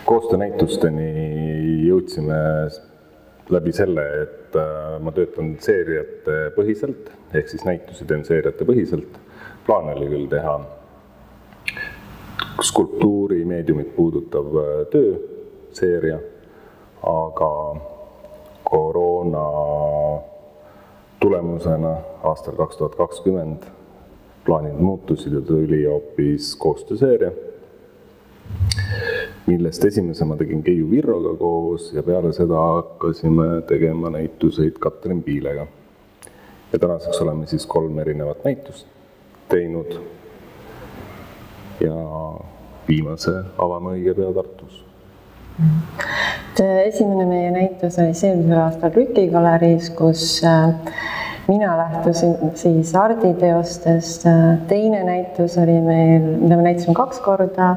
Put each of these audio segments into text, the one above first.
koostöönäitusteni jõudsime läbi selle, et ma töötan seeriate põhiselt, ehk siis näitusi teen seeriate põhiselt. Plaan oli küll teha skulptuuri meediumit puudutav tööseeria, aga koroona tulemusena aastal 2020 plaanid muutusid ja tuli hoopis koostööseeria, millest esimese ma tegin Keiu Virroga koos ja peale seda hakkasime tegema näituseid Katrin Piilega. Ja tänaseks oleme siis 3 erinevat näitust teinud ja viimase avame õige pea Tartus. Esimene meie näitus oli eelmisel aastal Rüki galeriis, kus mina lähtusin siis arditeostest. Teine näitus oli meil, mida me näitasime 2 korda,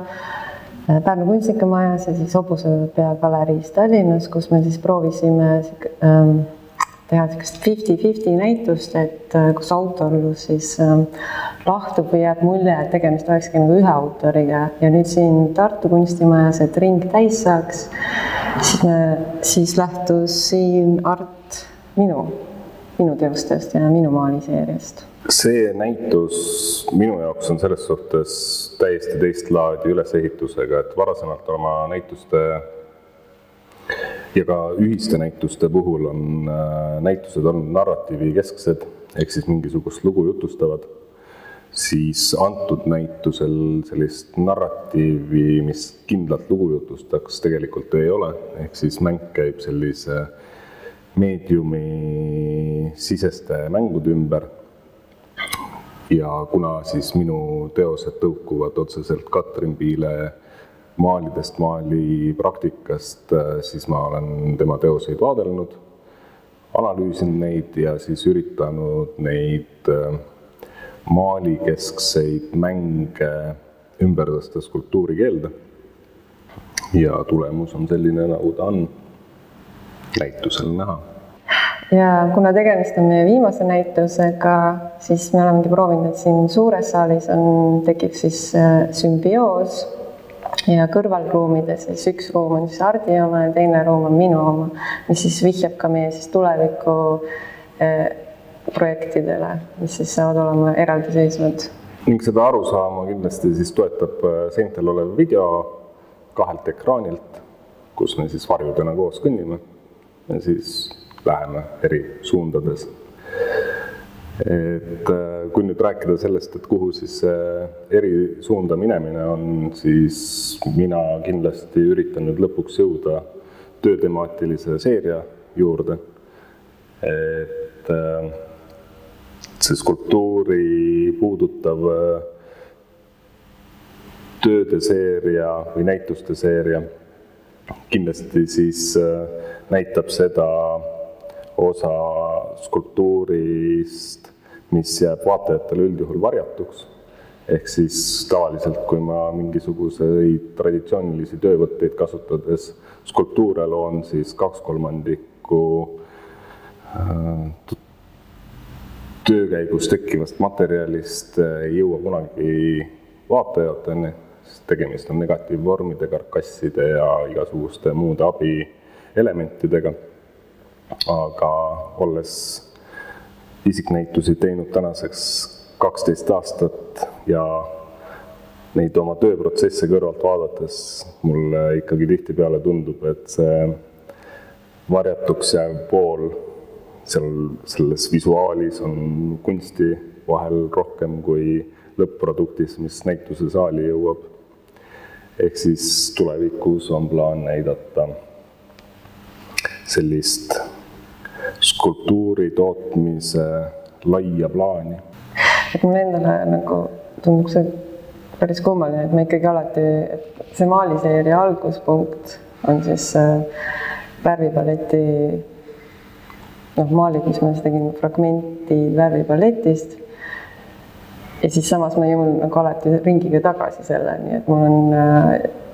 Pärnu Kunstikamaajas ja siis Hobusepea galeriis Tallinnas, kus me siis proovisime teha 50-50 näitust, et kus autorlus siis lahtub või jääb mulje, et tegemist olekski nagu ühe autoriga. Ja nüüd siin Tartu Kunstimajas, et ring täis saaks, siis lähtus siin art minu teostest ja minu maaliseeriast. See näitus minu jaoks on selles suhtes täiesti teist laadi ülesehitusega, et varasemalt oma näituste ja ka ühiste näituste puhul on näitused olnud narratiivi kesksed, ehk siis mingisugust lugu jutustavad, siis antud näitusel sellist narratiivi, mis kindlalt lugu jutustaks, tegelikult ei ole, ehk siis mäng käib sellise meediumi siseste mängude ümber. Ja kuna siis minu teosed tõukuvad otseselt Katrin Piile maalidest, maalipraktikast, siis ma olen tema teoseid vaadelnud, analüüsinud neid ja siis üritanud neid maalikeskseid mänge ümber tõsta skulptuurikeelde. Ja tulemus on selline, nagu ta on näitusel näha. Ja kuna tegemist on meie viimase näitusega, siis me olemegi proovinud, et siin suures saalis tekib siis sümbioos ja kõrvalruumides siis üks ruum on siis Ardi oma ja teine ruum on minu oma, mis siis vihjab ka meie siis tuleviku projektidele, mis siis saavad olema eraldiseisvad. Ning seda arusaama kindlasti siis toetab seintel olev video 2 ekraanilt, kus me siis varjudena koos kõnnime ja siis läheme eri suundades. Et kui nüüd rääkida sellest, et kuhu siis eri suunda minemine on, siis mina kindlasti üritan nüüd lõpuks jõuda töötemaatilise seeria juurde. Et see skulptuuri puudutav tööde seeria või näituste seeria kindlasti siis näitab seda osa skulptuurist, mis jääb vaatajatele üldjuhul varjatuks. Ehk siis tavaliselt, kui ma mingisuguseid traditsioonilisi töövõtteid kasutades skulptuure loon, siis 2/3 töökäigus tekkivast materjalist ei jõua kunagi vaatajateni. Tegemist on negatiivvormide, karkasside ja igasuguste muude abielementidega. Aga olles isiknäitusi teinud tänaseks 12 aastat ja neid oma tööprotsesse kõrvalt vaadates mulle ikkagi tihtipeale tundub, et see varjatuks jääv pool selles visuaalis on kunsti vahel rohkem kui lõpp-produktis, mis näituse saali jõuab. Ehk siis tulevikus on plaan näidata sellist skulptuuri tootmise laia plaani. Et mul endale nagu tundub see päris kummaline, et ma ikkagi alati, et see maaliseeria alguspunkt on siis värvipaleti maalid, mis ma tegin fragmenti värvipalettist. Ja siis samas ma jõun nagu alati ringiga tagasi selle, nii et mul on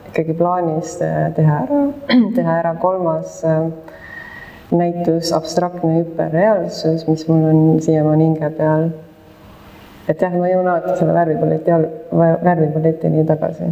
ikkagi plaanis teha ära 3. näitus abstraktne hüperreaalsus, mis mul on siiamaani hinge peal. Et jah, ma jõun alati selle värvipaletini tagasi.